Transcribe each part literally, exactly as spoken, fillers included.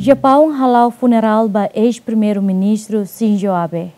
Japaun hala'o funerál ba eis-primeiru-ministru Shinzo Abe.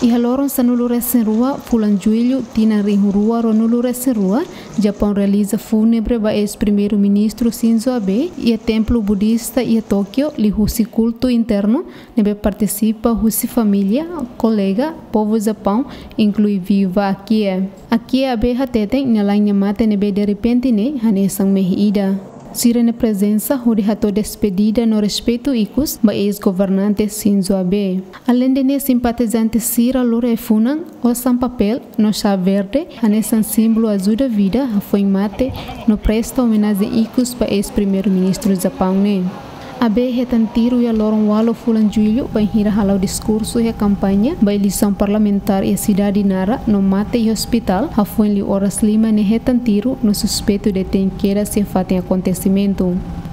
Iha loron sanulu-resin-rua fulan Jullu tinan rihun rua ruanulu-resin-rua, Japaun realiza fúnebre ba eis-primeiru-ministru Shinzo Abe iha templu budista iha Tókiu, liuhusi kultu internu ne'ebé partisipa husi família, kolega, povu Japaun, inklui viúva Akie. Akie Abe hateten nia la'en nia mate ne'ebé derrepente ne'e hanesan mehi ida. Sira-nia prezensa hodi hato'o despedida no respeitu ikus ba eis-governante Shinzo Abe. Aleinde ne'e, simpatizante sira lori ai-funan, osan papél no xá verde hanesan símbolu ajuda vida, hafoin mate no presta omenajen ikus ba eis-primeiru-ministru Japaun ne'e. Abe hetan tiru iha loron ualu fulan Jullu bainhira hala'o diskursu iha kampaña ba eleisaun parlamentár iha sidade Nara no mate iha ospitál, hafoin liu oras lima nia hetan tiru no suspeitu detein kedas iha fatin akontesimentu.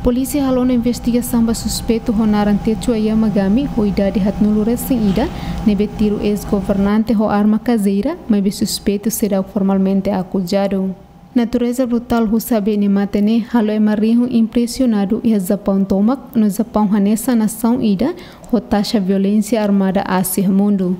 Polísia halo ona investigasaun ba suspeitu ho naran Tetsuya Yamagami, ho idade haatnulu-resin-ida, ne'ebé tiru eis-governante ho arma kazeira, maibé suspeitu seidauk formalmente akuzadu. Natureza brutál husi Abe nia mate ne'e halo ema rihun impresionadu iha Japaun tomak, no Japaun hanesan nasaun ida ho taxa violénsia armada aas iha mundu.